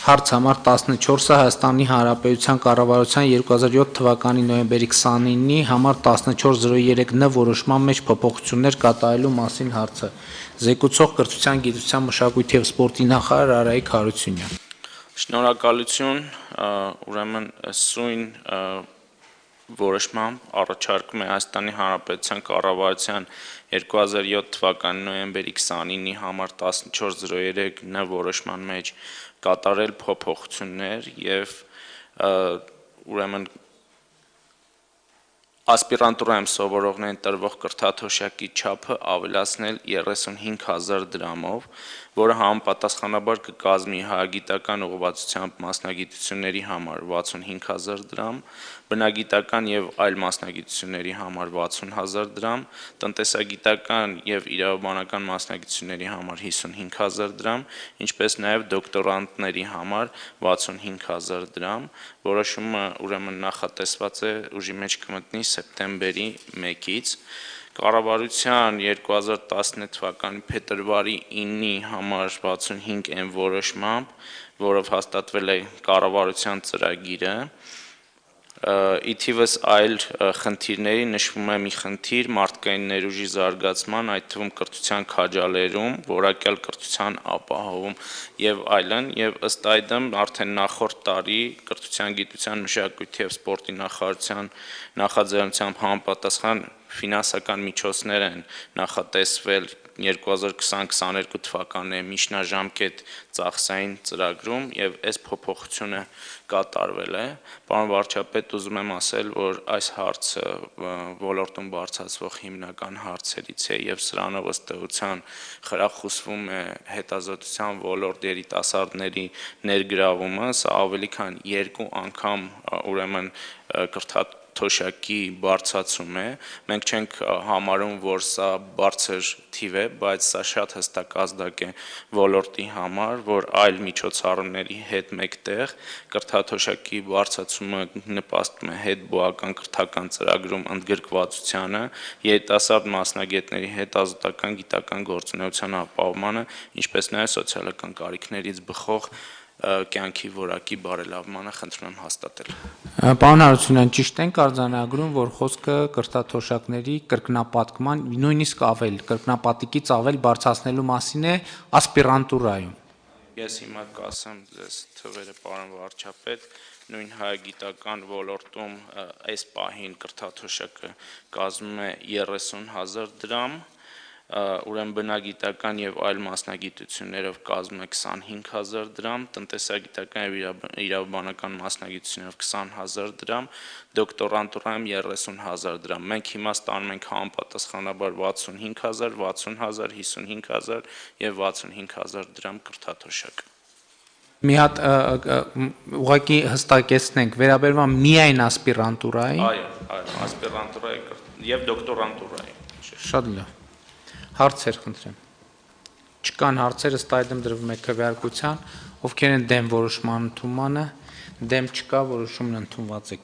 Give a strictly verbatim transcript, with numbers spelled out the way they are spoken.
Հարց համար տասնչորսը Հայաստանի Հանրապետության կառավարության երկու հազար յոթ թվականի նոյեմբերի քսանինի համար տասնչորս զրո երեք Ն որոշման մեջ փոփոխություններ կատարելու մասին հարցը։ Զեկուցող կրթության, գիտության, մշակույթի և սպորտի նախարար Արայիկ Հարությունյան։ Շնորհակալություն, ուրեմն սույն որոշմամբ առաջարկում է Հայաստանի Հանրապետության կառավարության երկու հազար յոթ թվականի նոյեմբերի քսանինի համար տասնչորս զրո երեք Ն որոշման մեջ կատարել փոփոխություններ և ուրեմն ասպիրանտուրայում սովորողներին տրվող կրթաթոշակի չափը ավելացնել երեսունհինգ հազար դրամով, որը համապատասխանաբար կկազմի հայագիտական ուղղվածությամբ մասնագիտությունների համար վաթսունհինգ հազար դրամ, բնագիտական և այլ մասնագիտությունների համար վաթսուն հազար դրամ, տնտեսագիտական և իրավաբանական մասնագիտությունների համար հիսունհինգ հազար դրամ, ինչպես նաև դոկտորանտների համար վաթսունհինգ հազար դրամ, որոշումը ուրեմն նախատեսված է ուժի մեջ կմտնի սեպտեմբերի մեկից, Կառավարության երկու հազար տասնութ թվականի փետրվարի իննի համար վաթսունհինգ N որոշմամբ, որով հաստատվել է կառավարության ծրագիրը, ի թիվս այլ խնդիրների նշվում է մի խնդիր մարդկային ներուժի զարգացման, այդ թվում կրթության քաջալերում, որակյալ կրթության ապահովում և այլն, և ըստ այդմ արդեն նախորդ տարի կրթության, գիտության, մշակույթի և սպորտի նախարարության նախաձեռնությամբ համապատասխան ֆինանսական միջոցներ են նախատեսվել երկու հազար քսան քսաներկու թվականների միջնաժամկետ ծախսային ծրագրում և այս փոփոխությունը կատարվել է, պարոն վարչապետ, ուզում եմ ասել, որ այս հարցը ոլորտում բարձրացվող հիմնական հարցերից է և սրանով ըստ էության խրախուսվում է հետազոտության ոլորտ երիտասարդների ներգրավումը, սա ավելի քան երկու անգամ ուրեմն կրթաթոշակի բարձրացում է, մենք չենք համարում, որ սա բարձր թիվ է, բայց սա շատ հստակ ազդակ է ոլորտի համար, որ այլ միջոցառումների հետ մեկտեղ կրթաթոշակի բարձրացումը նպաստում է հետբուական կրթական ծրագրում ընդգրկվածությանը, երիտասարդ մասնագետների հետազոտական գիտական գործունեության ապահովմանը, ինչպես նաև սոցիալական կարիքներից բխող կյանքի որակի բարելավմանը, խնդրում եմ հաստատել։ Պարոն Հարությունյան, ճիշտ ենք արձանագրում, որ խոսքը կրթաթոշակների կրկնապատկման, նույնիսկ ավել, կրկնապատկից ավել բարձրացնելու մասին է ասպիրանտուրայում։ Ես հիմա կասեմ ձեզ թվերը, պարոն վարչապետ, նույն հայագիտական ոլորտում այս պահին կրթաթոշակը կազմում է երեսուն հազար դրամ, ուրեմն բնագիտական և այլ մասնագիտություններով կազմում է քսանհինգ հազար դրամ, տնտեսագիտական և իրավաբանական մասնագիտություններով քսան հազար դրամ, դոկտորանտուրայում երեսուն հազար դրամ, մենք հիմա ստանում ենք համապատասխանաբար վաթսունհինգ հազար, վաթսուն հազար, հիսունհինգ հազար և վաթսունհինգ հազար դրամ կրթաթոշակ։ Մի հատ ուղղակի հստակեցնենք, վերաբերվում է միայն ասպիրանտուրային։ Այո, այո, ասպիրանտուրայի և դոկտորանտուրայի։ Շատ լավ։ Հարցեր խնդրեմ։ Չկան հարցեր, ըստ այդմ դրվում է քվեարկության, ովքեր են դեմ որոշման ընդունմանը, դեմ չկա, որոշումն ընդունված է։